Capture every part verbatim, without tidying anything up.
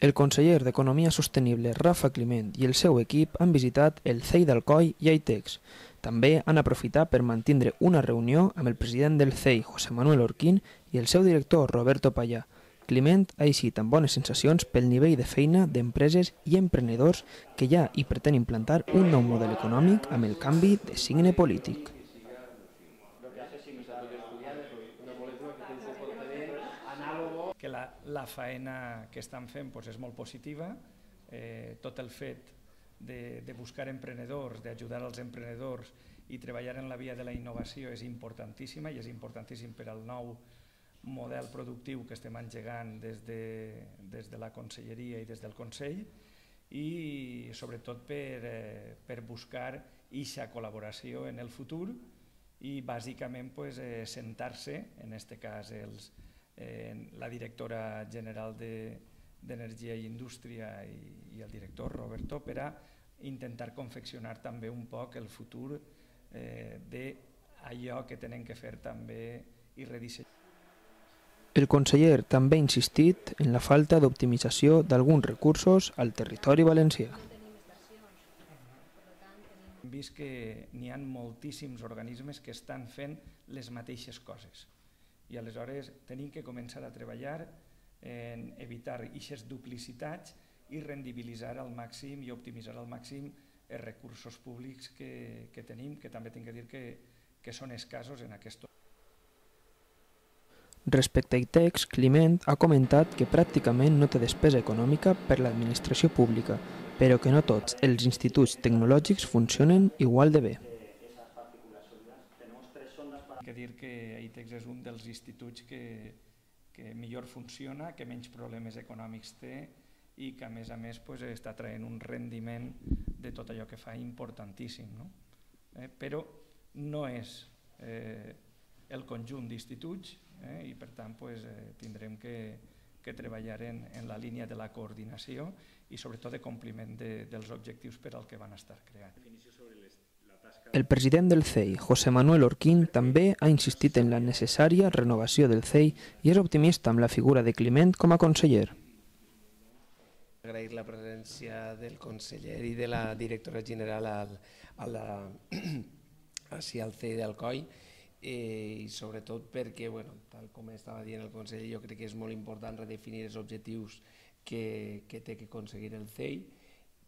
El conseller d'Economia Sostenible, Rafa Climent, i el seu equip han visitat el C E I d'Alcoi i Aitex. També han aprofitat per mantenir una reunió amb el president del C E I, José Manuel Orquín, i el seu director, Roberto Payá. Climent ha eixit amb bones sensacions pel nivell de feina d'empreses i emprenedors que hi ha i pretén implantar un nou model econòmic amb el canvi de signe polític. Que la, la faena que estan fent doncs, és molt positiva, eh, tot el fet de, de buscar emprenedors, d'ajudar als emprenedors i treballar en la via de la innovació és importantíssima i és importantíssim per al nou model productiu que estem engegant des de, des de la Conselleria i des del Consell i sobretot per, eh, per buscar eixa col·laboració en el futur i bàsicament pues, eh, sentar-se, en aquest cas els Eh, la directora general d'Energia i Indústria i, i el director Roberto per a intentar confeccionar també un poc el futur eh, d'allò que tenen que fer també i redissenyar. El conseller també ha insistit en la falta d'optimització d'alguns recursos al territori valencià. Hem vist que n'hi ha moltíssims organismes que estan fent les mateixes coses. I aleshores tenim que començar a treballar en evitar aquestes duplicitats i rendibilitzar al màxim i optimitzar al màxim els recursos públics que, que tenim, que també tinc que dir que, que són escassos en aquest. Respecte a Aitex, Climent ha comentat que pràcticament no té despesa econòmica per l'administració pública, però que no tots els instituts tecnològics funcionen igual de bé. He de dir que Aitex és un dels instituts que, que millor funciona, que menys problemes econòmics té i que a més a més pues, està traient un rendiment de tot allò que fa importantíssim. No? Eh, però no és eh, el conjunt d'instituts eh, i per tant pues, eh, tindrem que, que treballar en, en la línia de la coordinació i sobretot de compliment de, dels objectius per al que van estar creats. El president del C E I, José Manuel Orquín, també ha insistit en la necessària renovació del C E I i és optimista amb la figura de Climent com a conseller. Agrair la presència del conseller i de la directora general al, a la, així al C E I d'Alcoi eh, i sobretot perquè, bueno, tal com estava dient el conseller, jo crec que és molt important redefinir els objectius que, que té que aconseguir el C E I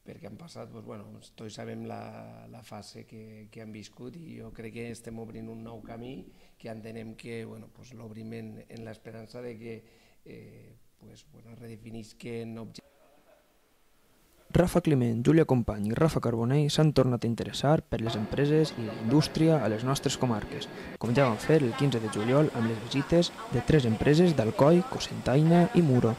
perquè han passat, doncs, bueno, tots sabem la, la fase que, que han viscut i jo crec que estem obrint un nou camí que entenem que bueno, pues, l'obrim en, en l'esperança de que eh, pues, bueno, redefinisquen objectius. Rafa Climent, Júlia Company i Rafa Carbonell s'han tornat a interessar per les empreses i la indústria a les nostres comarques, com ja van fer el quinze de juliol amb les visites de tres empreses d'Alcoi, Cocentaina i Muro.